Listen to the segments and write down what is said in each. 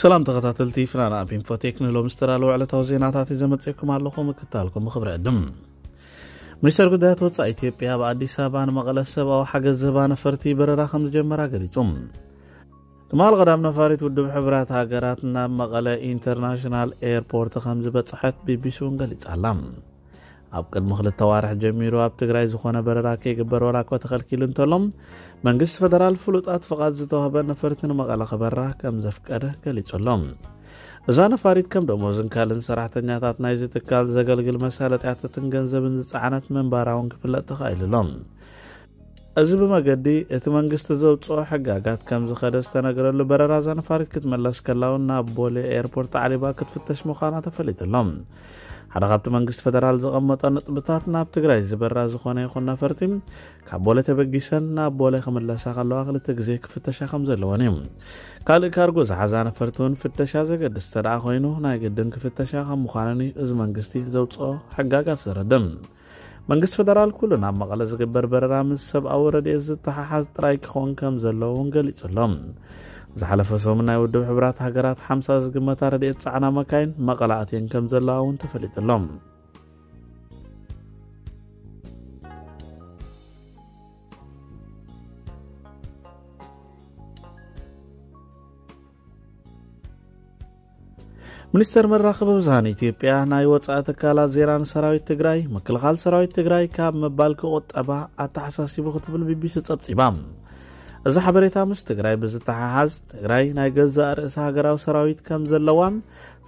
ሰላም ተኸታተልቲ ፍናን ኣብ ኢንፎቴክ፣ ንሎም ዝተዳለወ ዕለታዊ ዜናታት እዩ ዘመጽእኩም ኣለኹ። ምክታልኩም ብኽብሪ ዕድም። ሚኒስተር ጉዳያት ወጻኢ ኢትዮጵያ ኣብ ኣዲስ ኣበባ ንመቐለ ሰብኣዊ ሓገዝ ዝህባ ነፈርቲ በረራ ከም ዝጀመራ ገሊጹ። ትማል ቀዳም ነፋሪት ውድብ ሕብራት ሃገራት ናብ መቐለ ኢንተርናሽናል ኤርፖርት ከም ዝበጽሐት ቢቢሲ እውን ገሊጻ ኣላ። ኣብ ቅድሚ ክልተ ዋርሕ ጀሚሩ ኣብ ትግራይ ዝኾነ በረራ ከይግበር ዋላ እኳ ተኸልኪሉ እንተሎ፣ መንግስቲ ፈደራል ፍሉጣት ፍቓድ ዝተዋህበ ነፈርቲ ንመቐለ ክበራ ከም ዘፍቀደ ገሊጹ ኣሎ። እዛ ነፋሪት ከም ደሞዝን ካልእን ሰራሕተኛታት ናይዚ ትካል ዘገልግል መሳለጥያታትን ገንዘብን ዝጸዓነት ምንባራ እውን ክፍለጥ ተኻኢሉ ኣሎ። እዚ ብመገዲ እቲ መንግስቲ ዘውፅኦ ሕጋጋት ከም ዝኸደ ዝተነገረሉ በረራ እዛ ነፋሪት ክትመለስ ከላ እውን ናብ ቦሌ ኤርፖርት ኣዕሊባ ክትፍተሽ ምዃና ተፈሊጡ ኣሎ። ሓደ ካብቲ መንግስቲ ፈደራል ዘቐመጦ ነጥብታት፣ ናብ ትግራይ ዝበራ ዝኾነ ይኹን ነፈርቲ ካብ ቦሌ ተበጊሰን ናብ ቦሌ ክምለሳ ከለዋ ክልተ ግዜ ክፍተሻ ከም ዘለወን እዩ። ካልእ ካርጎ ዝሓዛ ነፈርቲ እውን ፍተሻ ዘገድስ እንተደኣ ኮይኑ ናይ ግድን ክፍተሻ ከም ምዃነን እዩ እዚ መንግስቲ ዘውፅኦ ሕጋጋት ዘረድእ። መንግስቲ ፈደራል ኩሉ ናብ መቐለ ዝግበር በረራ ምስ ሰብኣዊ ረድኤት ዝተሓሓዝ ጥራይ ክኸውን ከም ዘለዎ እውን ገሊጹ ኣሎ። ዝሓለፈ ሰሙን ናይ ውድብ ሕብራት ሃገራት ሓምሳ ዝግመታ ረድኤት ጻዕና መካይን መቐለ ኣትየን ከም ዘለዋ እውን ተፈሊጡ ኣሎ። ሚኒስተር መራኸቢ ብዙሃን ኢትዮጵያ ናይ ወጻኢ ትካላት ዜና ንሰራዊት ትግራይ፣ ምክልኻል ሰራዊት ትግራይ ካብ ምባል ክቑጠባ ኣተሓሳሲቡ ክትብል ቢቢሲ ጸብጺባ። እዚ ሓበሬታ ምስ ትግራይ ብዝተሓሓዝ፣ ትግራይ ናይ ገዛእ ርእሳ ሃገራዊ ሰራዊት ከም ዘለዋን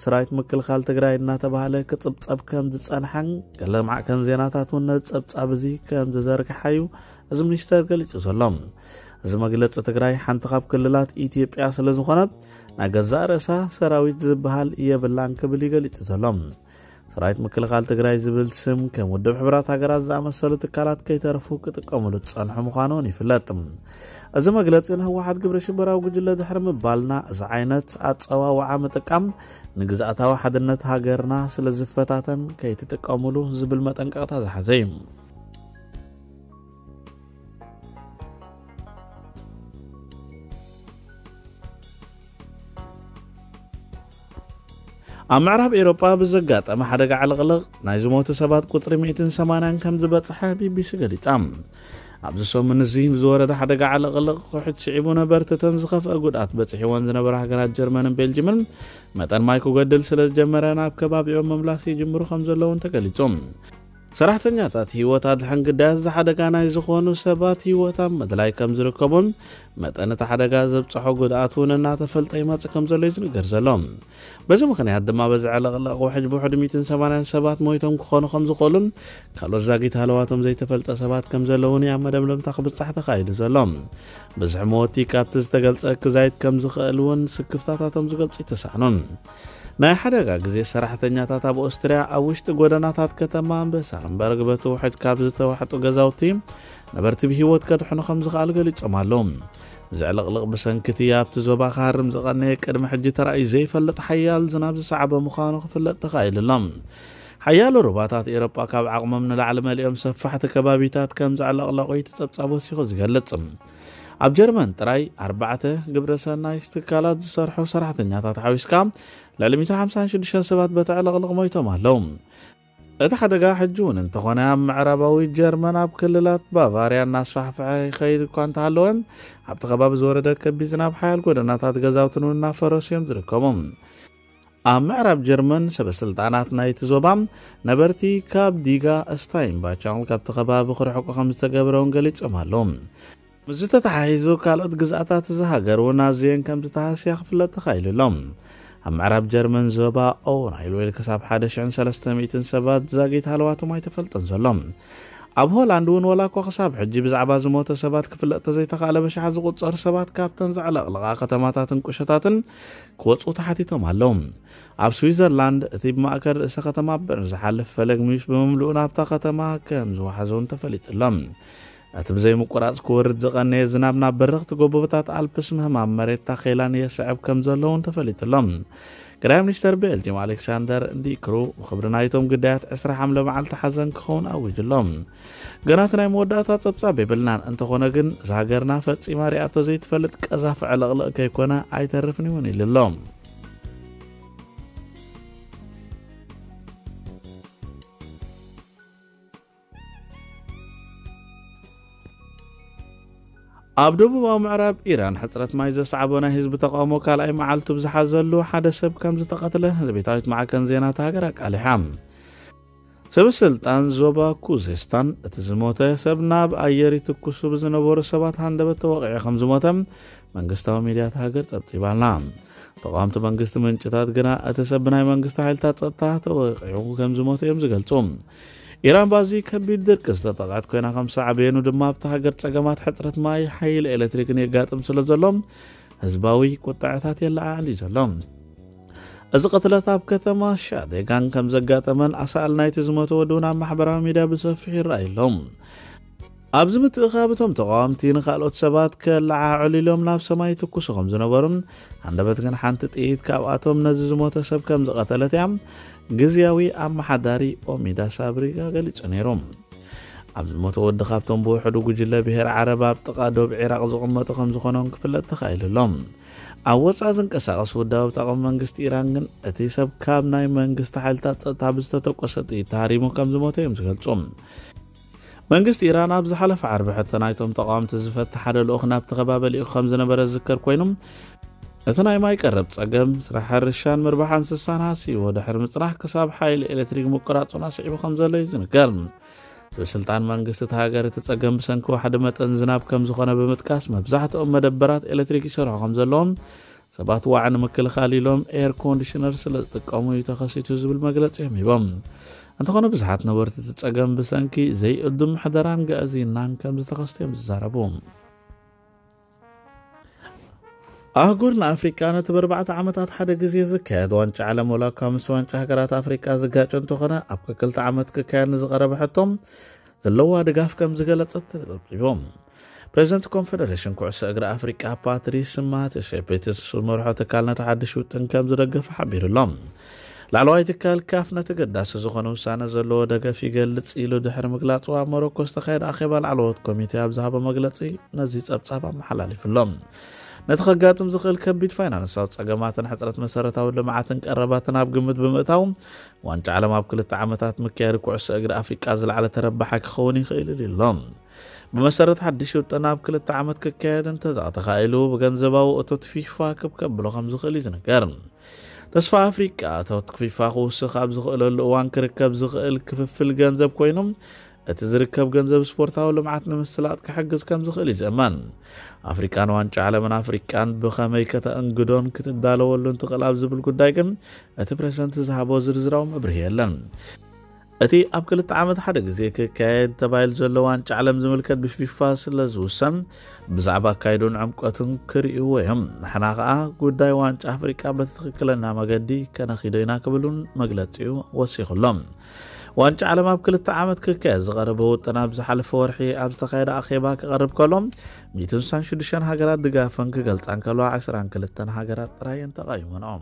ሰራዊት ምክልኻል ትግራይ እናተባህለ ክጽብጸብ ከም ዝጸንሐን ገለ ማዕከን ዜናታት እውን ነዚ ጸብጻብ እዚ ከም ዝዘርግሓ እዩ እዚ ሚኒስተር ገሊጹ ዘሎ። እዚ መግለጺ ትግራይ ሓንቲ ካብ ክልላት ኢትዮጵያ ስለ ዝኾነት ናይ ገዛእ ርእሳ ሰራዊት ዝበሃል የብላን ክብል እዩ ገሊጹ ዘሎ። ሰራዊት ምክልኻል ትግራይ ዝብል ስም ከም ውድብ ሕብራት ሃገራት ዝኣመሰሉ ትካላት ከይተረፉ ክጥቀሙሉ ዝጸንሑ ምዃኖም ይፍለጥ። እዚ መግለጺ ንህወሓት ግብረ ሽበራዊ ጉጅለ ድሕሪ ምባልና እዚ ዓይነት ኣጸዋውዓ ምጥቃም ንግዝኣታዊ ሓድነት ሃገርና ስለ ዝፈታተን ከይትጥቀሙሉ ዝብል መጠንቀቕታ ዝሓዘ እዩ። ኣብ ምዕራብ ኤውሮጳ ብዘጋጠመ ሓደጋ ዕልቕልቕ ናይ ዝሞቱ ሰባት ቁጽሪ ሚእትን ሰማንያን ከም ዝበጽሐ ቢቢሲ ገሊጻ። ኣብዚ ሰሙን እዚ ብዝወረደ ሓደጋ ዕልቕልቕ ውሕጅ ስዒቡ ነበርትተን ዝኸፍአ ጉድኣት በጺሕወን ዝነበራ ሃገራት ጀርመንን ቤልጅምን መጠን ማይ ክጎድል ስለ ዝጀመረ ናብ ከባቢኦም ምምላስ ይጅምሩ ከም ዘለውን ተገሊጹ። ሰራሕተኛታት ህይወት ኣድሕን ግዳያት እዚ ሓደጋ ናይ ዝኾኑ ሰባት ህይወት ኣብ ምድላይ ከም ዝርከቡን መጠን እቲ ሓደጋ ዘብጽሖ ጉድኣት እውን እናተፈልጠ ይመጽእ ከም ዘሎ እዩ ዝንገር ዘሎ። በዚ ምኽንያት ድማ በዚ ዕልቕልቕ ውሕጅ ብውሕዱ ሚእትን ሰማንያን ሰባት ሞይቶም ክኾኑ ከም ዝኾኑን ካልኦት ዛጊት ሃለዋቶም ዘይተፈልጠ ሰባት ከም ዘለውን እዩ ኣብ መደምደምታ ክብጻሕ ተኻኢሉ ዘሎ። ብዝሒ መወቲ ካብቲ ዝተገልጸ ክዛይድ ከም ዝኽእል እውን ስክፍታታቶም ዝገልጹ ይተሳእኑን። ናይ ሓደጋ ግዜ ሰራሕተኛታት ኣብ ኦስትርያ ኣብ ውሽጢ ጎደናታት ከተማ በሳረንበርግ በቲ ውሕጅ ካብ ዝተዋሕጡ ገዛውቲ ነበርቲ ብህይወት ከድሕኑ ከም ዝኸኣሉ ገሊጾም ኣለዉ። እዚ ዕልቕልቕ ብሰንኪ እቲ ኣብቲ ዞባ ክሃርም ዝቐነየ ቅድሚ ሕጂ ተራእዩ ዘይፈልጥ ሓያል ዝናብ ዝሰዓበ ምዃኑ ክፍለጥ ተኻኢሉ ኣሎ። ሓያሎ ሩባታት ኤውሮጳ ካብ ዓቕሞም ንላዕሊ መሊኦም ሰፋሕቲ ከባቢታት ከም ዘዕለቕለቑ እዩ እቲ ጸብጻብ ወሲኹ ዝገልጽ። ኣብ ጀርመን ጥራይ ኣርባዕተ ግብረ ሰናይ ትካላት ዝሰርሑ ሰራሕተኛታት ሓዊስካ ልዕሊ ሚእትን ሓምሳን ሽዱሽተን ሰባት በቲ ዕልቕልቕ ሞይቶም ኣለዉ። እቲ ሓደጋ ሕጂ እውን እንተኾነ ኣብ ምዕራባዊ ጀርመን ኣብ ክልላት ባቫርያ እናስፋሕፍሐ ይኸይድ እኳ እንተሃለወ፣ ኣብቲ ከባቢ ዝወረደ ከቢድ ዝናብ ሓያል ጎደናታት ገዛውትን እውን እናፈረሱ እዮም ዝርከቡ። ኣብ ምዕራብ ጀርመን ሰበ ስልጣናት ናይቲ ዞባ ነበርቲ ካብ ዲጋ ስታይንባቻል ካብቲ ከባቢ ክርሕቁ ከም ዝተገብረ እውን ገሊጾም ኣለዉ። ምስዚ ተተሓሒዙ ካልኦት ግዝኣታት እዛ ሃገር እውን ኣዝየን ከም ዝተሃስያ ክፍለጥ ተኻኢሉ ኣሎ። ኣብ ምዕራብ ጀርመን ዞባ ኦውራይልዌል ክሳብ ሓደ ሽሕን ሰለስተ ሚእትን ሰባት ዛጊት ሃለዋቶም ኣይተፈልጠን ዘሎ። ኣብ ሆላንድ እውን ወላ እኳ ክሳብ ሕጂ ብዛዕባ ዝሞተ ሰባት ክፍለጥ ተዘይተኻእለ ብሽሓት ዝቑጸሩ ሰባት ካብተን ዘዕለቕለቓ ከተማታትን ቁሸታትን ክወጽኡ ተሓቲቶም ኣለዉ። ኣብ ስዊዘርላንድ እቲ ብማእከል ርእሰ ከተማ በርን ዝሓልፍ ፈለግ ሚዩስ ብምምልኡ ናብታ ከተማ ከም ዝወሓዘ እውን ተፈሊጡ ኣሎ። እቲ ብዘይምቁራጽ ክወርድ ዝቐነየ ዝናብ ናብ በረኽቲ ጎቦታት ኣልፕስ ምህማም መሬት ታኼላን የስዕብ ከም ዘሎ እውን ተፈሊጡ ኣሎ። ቀዳማይ ሚኒስተር ቤልጅየም ኣሌክሳንደር ዲክሩ ብኽብሪ ናይቶም ግዳያት ዕስራ ሓምለ መዓልቲ ሓዘን ክኸውን ኣዊጁ ኣሎ። ገና እቲ ናይ መወዳእታ ጸብጻብ የብልናን፣ እንተኾነ ግን እዛ ሃገርና ፈጺማ ሪኣቶ ዘይትፈልጥ ቀዛፊ ዕልቕልቕ ከይኮነ ኣይተርፍን እውን ኢሉ ኣሎ። ኣብ ደቡባዊ ምዕራብ ኢራን ሕጽረት ማይ ዘስዓቦ ናይ ህዝቢ ተቃውሞ ካልኣይ መዓልቱ ብዝሓዘሉ ሓደ ሰብ ከም ዝተቐትለ ቤታዊት ማዕከን ዜና እታ ሃገር ኣቃሊሓ። ሰብ ስልጣን ዞባ ኩዜስታን እቲ ዝሞተ ሰብ ናብ ኣየር ይትኩሱ ብዝነበሩ ሰባት ሃንደበት ተወቂዑ ከም ዝሞተ መንግስታዊ ሚድያ እታ ሃገር ጸብጺባልና። ተቃወምቲ መንግስቲ ምንጭታት ግና እቲ ሰብ ብናይ መንግስቲ ሓይልታት ጸጥታ ተወቂዑ ከም ዝሞተ እዮም ዝገልጹ። ኢራን ባዚ ከቢድ ድርቂ ዝተጠቕዐት ኮይና ከም ሳዕቤኑ ድማ ኣብታ ሃገር ጸገማት ሕጽረት ማይ ሓይሊ ኤሌክትሪክን የጋጥም ስለ ዘሎ ህዝባዊ ቁጥዐታት የለዓዕል እዩ ዘሎ። እዚ ቅትለት ኣብ ከተማ ሻዴጋን ከም ዘጋጠመን ኣሳእል ናይቲ ዝሞተ ወዲ እውን ኣብ ማሕበራዊ ሚድያ ብሰፊሑ ይረኣዩ ኣለዉ። ኣብዚ ምትእኻብ እቶም ተቃወምቲ ንካልኦት ሰባት ከለዓዕሉ ኢሎም ናብ ሰማይ ይትኩሱ ከም ዝነበሩን ሃንደበት ግን ሓንቲ ጥይት ካብኣቶም ነዚ ዝሞተ ሰብ ከም ዝቐተለት እያ ግዝያዊ ኣመሓዳሪ ኦሚዳ ሳብሪጋ ገሊጹ ነይሩ። ኣብ ዝሞተ ወዲ ካብቶም ብውሕዱ ጉጅለ ብሄር ዓረብ ኣብ ጥቓ ዶብ ዒራቕ ዝቕመጡ ከም ዝኾኖም ክፍለጥ ተኻኢሉ ኣሎ። ኣብ ወጻኢ ዝንቀሳቐስ ውዳብ ተቃውሞ መንግስቲ ኢራን ግን እቲ ሰብ ካብ ናይ መንግስቲ ሓይልታት ጸጥታ ብዝተተኮሰ ጥይት ተሃሪሙ ከም ዝሞተ እዮም ዝገልጹ። መንግስቲ ኢራን ኣብ ዝሓለፈ ዓርቢ ሕቶ ናይቶም ተቃወምቲ ዝፈትሕ ሓደ ልኡኽ ናብቲ ከባቢ ልኢኹ ከም ዝነበረ ዝዝከር ኮይኑ፣ እቲ ናይ ማይ ቀረብ ጸገም፣ ስራሕ ሕርሻን ምርባሕ እንስሳን ሃስይዎ ድሕሪ ምጽናሕ ክሳብ ሓይሊ ኤሌክትሪክ ምቁራጹን ኣስዒቡ ከም ዘሎ እዩ ዝንገር። ሰብ ስልጣን መንግስቲ እቲ ሃገር እቲ ጸገም ብሰንኪ ዋሕዲ መጠን ዝናብ ከም ዝኾነ ብምጥቃስ መብዛሕትኦም መደበራት ኤሌክትሪክ ይሰርሑ ከም ዘለዎም ሰባት ዋዕ ንምክልኻል ኢሎም ኤር ኮንዲሽነር ስለ ዝጥቀሙ እዩ ተኸሲቱ ዝብል መግለጺ እዮም ሂቦም። እንተኾነ ብዙሓት ነበርቲ እቲ ጸገም ብሰንኪ ዘይእዱም ምሕደራን ግዕዝይናን ከም ዝተኸስተ እዮም ዝዛረቡ። ኣህጉር ንኣፍሪቃ ነቲ ብኣርባዕተ ዓመታት ሓደ ግዜ ዝካየድ ዋንጫ ዓለም ወላ እኳ ምስ ዋንጫ ሃገራት ኣፍሪቃ ዝጋጨ እንተኾነ ኣብ ክልተ ዓመት ክካየድ ንዝቐረበ ሕቶም ዘለዋ ድጋፍ ከም ዝገለጸት ተጸብጺቦም። ፕሬዚደንት ኮንፈደሬሽን ኩዕሶ እግሪ ኣፍሪቃ ፓትሪስ ማትሴፔትስ ዝመርሖ ትካል ነቲ ሓድሽ ውጥን ከም ዝደገፈ ሓቢሩ ኣሎ። ላዕለዋይ ትካል ካፍ ነቲ ገዳሲ ዝኾነ ውሳነ ዘለዎ ደገፍ ይገልጽ ኢሉ ድሕሪ ምግላጹ ኣብ ሞሮኮ ዝተኻየደ ኣኼባ ላዕለዎት ኮሚቴ ኣብ ዝሃቦ መግለጺ ነዚ ጸብጻብ ኣመሓላሊፉ ኣሎ። ነቲ ከጋጥም ዝኽእል ከቢድ ፋይናንሳዊ ጸገማትን ሕጽረት መሰረታዊ ልምዓትን ቀረባትን ኣብ ግምት ብምእታው ዋንጫ ዓለም ኣብ ክልተ ዓመታት ምክያድ ኩዕሶ እግሪ ኣፍሪቃ ዝለዓለ ተረባሓይ ክኸውን ይኽእል ኢሉ ኣሎ። ብመሰረት ሓድሽ ውጥን ኣብ ክልተ ዓመት ክካየድ እንተተኻኢሉ ብገንዘባዊ እቶት ፊፋ ክብ ከብሎ ከም ዝኽእል እዩ ዝንገር። ተስፋ ኣፍሪቃ እቶት ፊፋ ክውስኽ ኣብ ዝኽእለሉ እዋን ክርከብ ዝኽእል ክፍፍል ገንዘብ ኮይኑ እቲ ዝርከብ ገንዘብ ስፖርታዊ ልምዓት ንምስላጥ ክሕግዝ ከም ዝኽእል እዩ ዝእመን። ኣፍሪቃን ዋንጫ ዓለምን ኣፍሪቃን ብኸመይ ከተእንግዶን ክትዳለወሉን ትኽእል ኣብ ዝብል ጉዳይ ግን እቲ ፕሬዚደንት ዝሃቦ ዝርዝራዊ መብርሂ የለን። እቲ ኣብ ክልተ ዓመት ሓደ ግዜ ክካየድ ተባሂሉ ዘሎ ዋንጫ ዓለም ዝምልከት ብፊፋ ስለ ዝውሰን ብዛዕባ ኣካይዱን ዕምቀቱን ክርእይዎ እዮም። ንሕና ከኣ ጉዳይ ዋንጫ ኣፍሪቃ በቲ ትኽክለና መገዲ ከነኺዶ ኢና ክብል እውን መግለጺኡ ወሲኹ ኣሎ። ዋንጫ ዓለም ኣብ ክልተ ዓመት ክካየድ ዝቐረበ ውጥን ኣብ ዝሓለፈ ወርሒ ኣብ ዝተኻየደ ኣኼባ ክቐርብ ከሎ ሚእትን ስሳን ሽዱሽተን ሃገራት ድጋፈን ክገልጻ እንከለዋ ዕስራን ክልተን ሃገራት ጥራይ እየን ተቓይመንኦ።